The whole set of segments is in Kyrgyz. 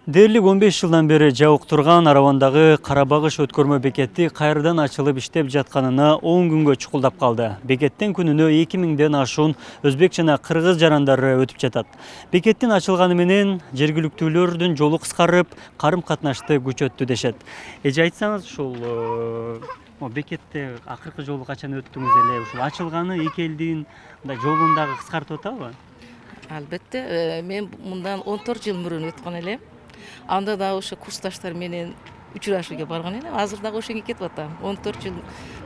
Дээрлик 15 жылдан бери жабык турган Аравандагы Карабагыш өткөрмө бекети кайрадан ачылып иштеп жатканына 10 күнгө чукулдап калды. Бекеттен күнүнө 2000ден ашуун өзбек жана кыргыз жарандары өтүп жатат. Бекеттин ачылганы менен жергиликтүүлөрдүн жолу кыскарып, карым-катнашты күчөттү дешет. Эже айтсаңыз, ушул бекетте акыркы жолу качан өттүңүз эле? Ушул ачылганы эки элдин жолун дагы кыскартып атабы? Албетте, мен мындан 14 жыл мурун өткөн элем. Анда да ошо курсташтар менен учурашууга барган элем. Азыр дагы ошоңо кетип атам. 14 жыл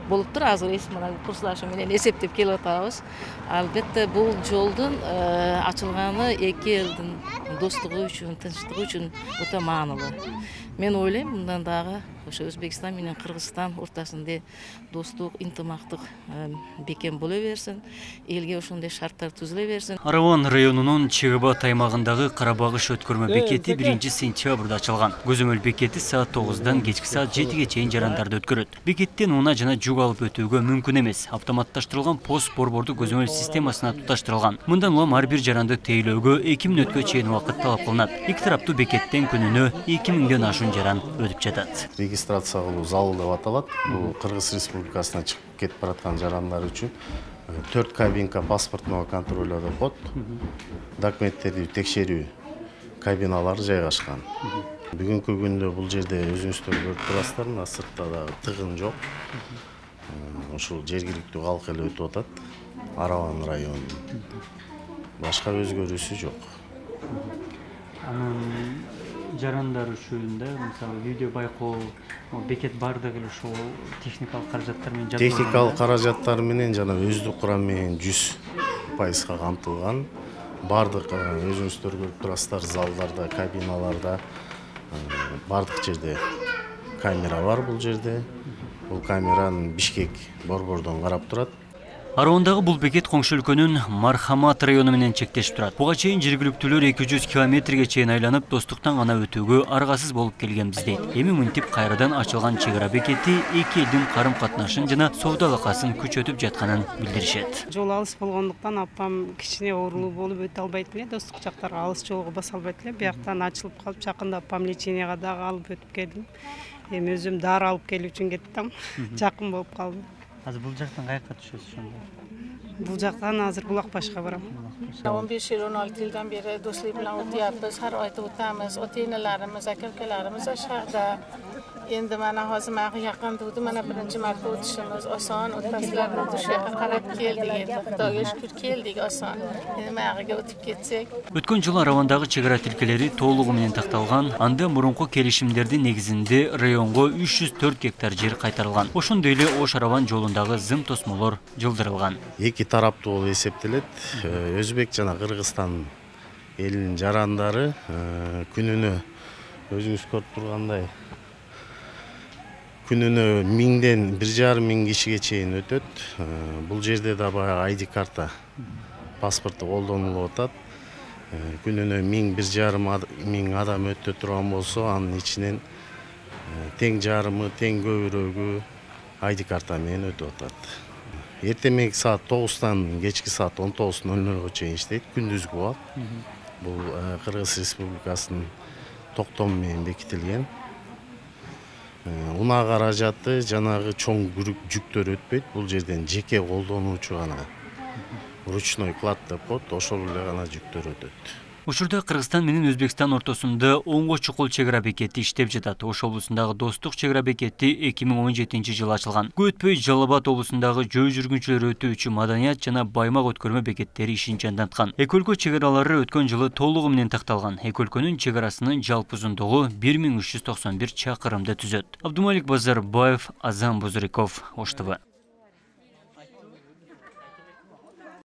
болуптур. Азыр мына курсташым менен эсептеп келип атабыз. Албетте, бул жолдун ачылганы эки элдин достугу үчүн, тынчтыгы үчүн өтө маанилүү. Мен ойлойм, мындан дагы ошо Өзбекстан менен Кыргызстан ортосунда достук, интимактык бекем боло берсин, элге ошондой шарттар түзүлө берсин. Араван районунун Чыгыбат аймагындагы Карабагыш өткөрмө бекети 1-сентябрда ачылган. Көзөмөл бекети саат 9-дан кечки саат 7ге чейин жарандарды өткөрөт. Бекеттен унаа жана жүк алып өтүүгө мүмкүн эмес. Автоматташтырылган пост борбордук көзөмөл системасына туташтырылган. Мындан улам ар бир жаранды тейлөөгө 2 мүнөткө чейин убакыт талап кылынат. Эки тараптуу бекеттен күнүнө 2000ден ашуун жаран өтүп жатат. Регистрация кылуу залы деп аталат. Бул Кыргыз Республикасына чыгып кетип бараткан жарандар үчүн 4 кабинка паспортного контроля деп коет. Документтерди текшерүү кабиналары жайгашкан. Бүгүнкү күндө бул жерде өзүңүздөр көрүп турасыздар, мына сыртта дагы тыгын жок. Ушул жергиликтүү калк эле өтүп атат. Араван району. Башка өзгөрүүсү жок. Жарандар үчүн да, мисалы, видео байкоо, бекет бардыгы эле ушул техникалык каражаттар менен жабдыкталган. Техникалык каражаттар менен жана өздүк курам менен 100% камтылган. Бардык өзүңүздөр көрүп турасыздар, залдарда, кабиналарда, бардык жерде камера бар бул жерде. Бул камераны Бишкек борбордон карап турат. Аравандагы бул бекет коңшу өлкөнүн Мархамат району менен чектешип турат. Буга чейин жергиликтүүлөр 200 километрге чейин айланып, достуктан гана өтүүгө аргасыз болуп келгенбиз дейт. Эми мынтип кайрадан ачылган чек ара бекети эки элдин карым-катнашын жана соода алакасын күчөтүп жатканын билдиришет. Жол алыс болгондуктан апам кичине оорулуу болуп өтө албайт эле, достук жактарга алыс жолго баса албайт эле. Бияктан ачылып калып, жакында апам леченияга дагы алып өтүп келдим. Эми өзүм дары алып келүү үчүн кеттим. Жакын болуп калдым. Азыр бул жактан каяка түшөсүз ошондо? Бул жактан азыр Булакбашка барам. 15 yıl 16 yıldan beri dostluğu bilen otuyapız, her ayda otamiz, ota-enelerimiz, aka-ukalarimiz aşağıda. Endi mana hozir manga yaqin turdi, mana birinchi marta o'tishimiz oson, o'tmaslarni o'tishiga qarab keldik endi. Xudoga shukr keldik oson. Endi manga o'tib ketsak. Өткөн жылы Аравандагы чек ара тилкелери толугу менен такталган, анда мурунку келишимдердин негизинде районго 304 гектар жер кайтарылган. Ошондой эле Ош-Араван жолундагы зым тосмолор жылдырылган. Эки тараптуу болуп эсептелет. Өзбек жана Кыргызстан элинин жарандары күнүнө өзүңүз көрүп тургандай күнүнө 1000ден 1,5 кишиге чейин өтөт. Бул жерде да баягы ID карта паспорту колдонулуп атат. Күнүнө 1000-1,5 адам өтө турган болсо, анын ичинен тең жарымы, тең көбүрөгү ID карта менен өтүп атат. Эртемек саат 9-тан кечки саат 19:00 чейин иштейт, күндүзгү убакыт. Бул Кыргыз Республикасынын токтому менен бекитилген. Унаа каражаты жанагы чоң жүктөр өтпөйт. Бул жерден жеке колдонуучу гана ручной клад деп коет, ошол эле гана жүктөр өтөт. Учурда Кыргызстан менен Өзбекстан ортосунда оңго чукул чек ара бекети иштеп жатат. Ош облусундагы достук чек ара бекети 2017-жылы ачылган. Көп өтпөй Жалал Абад облусундагы жөө жүргүнчүлөр өтүүчү Маданият жана Баймак өткөрмө бекеттери ишин жанданткан. Эки өлкө чек аралары өткөн жылы толугу менен такталган. Эки өлкөнүн чек арасынын жалпы узундугу 1391 чакырымды түзөт. Абдумалик Базарбаев, Азам Бузриков, Ош ТВ.